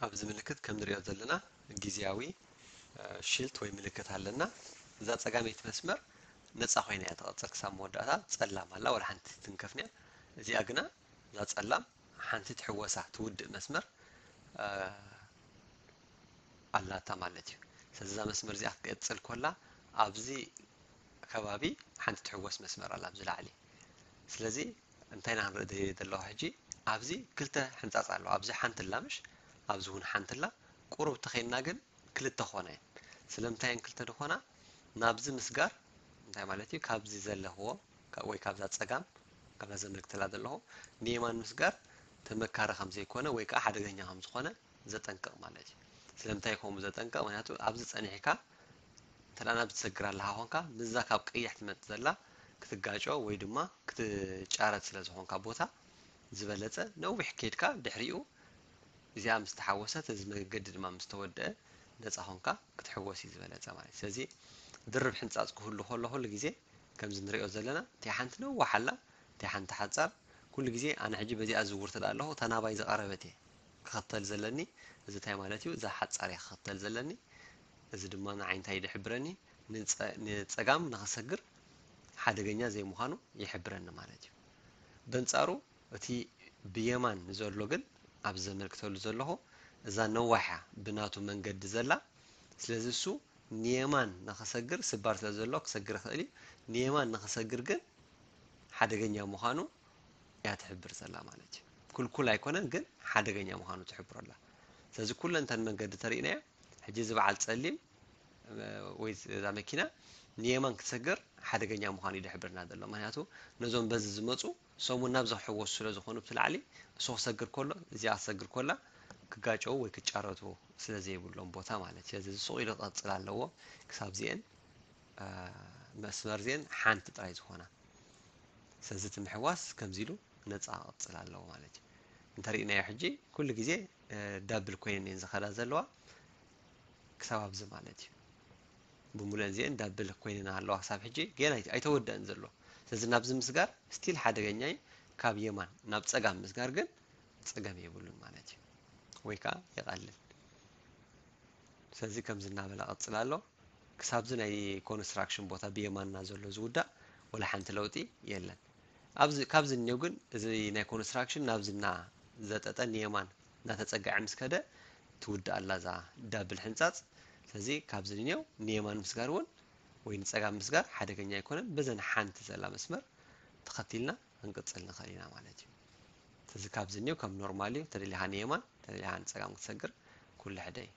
ኣብዚ ምልክት ከም ንሪኦ ዘለና ግዜያዊ ሽልት ወይ ምልክት ኣለና። እዛ ጸጋመይቲ መስመር ነጻ ኮይና እያ ትቐጽል ክሳብ መወዳእታ። ጸላም ኣላ፣ ወላ ሓንቲ ትንከፍንያ። እዚኣ ግና፣ እዛ ጸላም ሓንቲ ትሕወሳ ትውድእ መስመር ኣላታ ማለት እዩ። ስለዚ እዛ መስመር እዚኣ ክትቀጽል ኮላ ኣብዚ ከባቢ ሓንቲ ትሕወስ መስመር ኣላ ኣብዚ ላዕሊ። ስለዚ እንታይ ኢና ክንርኢ ደለኹ ሕጂ? ኣብዚ ክልተ ሕንጻጽ ኣለዋ። ኣብዚ ሓንቲ ኣላ ምሽ? ኣብዚ እውን ሓንቲ ኣላ። ቁሩብ ተኸይንና ግን ክልተ ኾና እየን። ስለምንታይ እየን ክልተ ዝኾና? ናብዚ ምስጋር እንታይ ማለት እዩ? ካብዚ ዘለኽዎ ወይ ካብዛ ጸጋም ካብዛ ዘመልክተላ ዘለኹ ንየማን ምስጋር ተመካሪ ከም ዘይኮነ ወይ ከዓ ሓደገኛ ከም ዝኾነ ዘጠንቅቕ ማለት እዩ። ስለምንታይ ከምኡ ዘጠንቅቕ? ምክንያቱ ኣብዚ ጸኒሕካ እንተ ናብዚ ትሰግር ኣለኻ ኾንካ ምስዛ ካብ ቀይሕ ትመጽእ ዘላ ክትጋጮ ወይ ድማ ክትጫረት ስለ ዝኾንካ ቦታ ዝበለጸ ነዊሕ ከይድካ ድሕሪኡ እዚኣ ምስ ተሓወሰት እዚ መገዲ ድማ ምስ ተወደአ ነጻ ኾንካ ክትሕወስ እዩ ዝበለጸ ማለት እዩ። ስለዚ ድርብ ሕንጻጽ ክህሉ ከሎ ኩሉ ግዜ ከምዚ ንሪኦ ዘለና እቲኣ ሓንቲ ነዋሕ ኣላ፣ እቲኣ ሓንቲ ሓጻር። ኩሉ ግዜ ኣነ ሕጂ በዚኣ ዝውር ትዳ ኣለኹ እታ ናባይ ዝቐረበት እየ ክኸተል ዘለኒ። እዚ እንታይ ማለት እዩ? እዛ ሓጻር እየ ክኸተል ዘለኒ። እዚ ድማ ንዓይ እንታይ ይድሕብረኒ? ንጸጋም ንኸሰግር ሓደገኛ ዘይምዃኑ ይሕብረኒ ማለት እዩ። በንጻሩ እቲ ብየማን ዘሎ ግን ኣብዚ ዘመልክተሉ ዘለኹ እዛ ነዋሕ እያ ብናቱ መንገዲ ዘላ። ስለዚ እሱ ንየማን ንኸሰግር ስባር ስለ ዘሎ ክሰግር ይኽእል እዩ። ንየማን ንኸሰግር ግን ሓደገኛ ምዃኑ እያ ትሕብር ዘላ ማለት እዩ። ኩልኩል ኣይኮነን ግን ሓደገኛ ምዃኑ ትሕብሮ ኣላ። ስለዚ ኩለን እተን መንገዲ ተሪእናዮ። ሕጂ እዚ በዓል ጸሊም ወይ እዛ መኪና ንየማን ክትሰግር ሓደገኛ ምዃኑ እዩ ዝሕብርና ዘሎ። ምክንያቱ ነዞም በዚ ዝመፁ ሰሙን ናብዚ ክሕወሱ ስለ ዝኾኑ ብቲ ላዕሊ እሱ ክሰግር ከሎ እዚኣ ክሰግር ከላ ክጋጨው ወይ ክጫረቱ ስለ ዘይብሎም ቦታ ማለት እዩ። ስለዚ እዚ ሱቕ ኢሉ ክቐፅል ኣለዎ ክሳብ እዚአን መስመር እዚአን ሓንቲ ጥራይ ዝኾና። ስለዚ እቲ ምሕዋስ ከምዚ ኢሉ ነፃ ክቕፅል ኣለዎ ማለት እዩ። እንተሪእናዮ ሕጂ ኩሉ ግዜ ዳብል ኮይነን እየን ዝኸዳ ዘለዋ ክሳብ ኣብዚ ማለት እዩ። ብምሉአን እዚአን ዳብል ኮይነን ኣለዋ ክሳብ ሕጂ ገና ኣይተ- ኣይተወደአን ዘሎ። ስለዚ ናብዚ ምስጋር ስቲል ሓደገኛ እዩ። ካብ የማን ናብ ፀጋም ምስጋር ግን ፀገም የብሉን ማለት እዩ፣ ወይ ከዓ ይቐልል። ስለዚ ከምዚ እናበለ ቀፅል ኣሎ። ክሳብዚ ናይ ኮንስትራክሽን ቦታ ብየማንና ዘሎ ዝውዳእ ወላ ሓንቲ ለውጢ የለን። ኣብዚ ካብዚ እኒው ግን እዚ ናይ ኮንስትራክሽን ናብዚ እናዘጠጠ ንየማን እናተፀግዐ ምስ ከደ ትውዳእ ኣላ እዛ ዳብል ሕንፃፅ። ስለዚ ካብዚ እኒው ንየማን ምስጋር እውን ወይ ንፀጋም ምስጋር ሓደገኛ ኣይኮነን። በዘን ሓንቲ ዘላ መስመር ተኸቲልና ክንቅፅል ንኽእል ኢና ማለት እዩ። ስለዚ ካብዚ እኒው ከም ኖርማል እዩ። ተደሊኻ ንየማን ተደሊኻ ንፀጋም ክትሰግር ኩሉ ሕደ እዩ።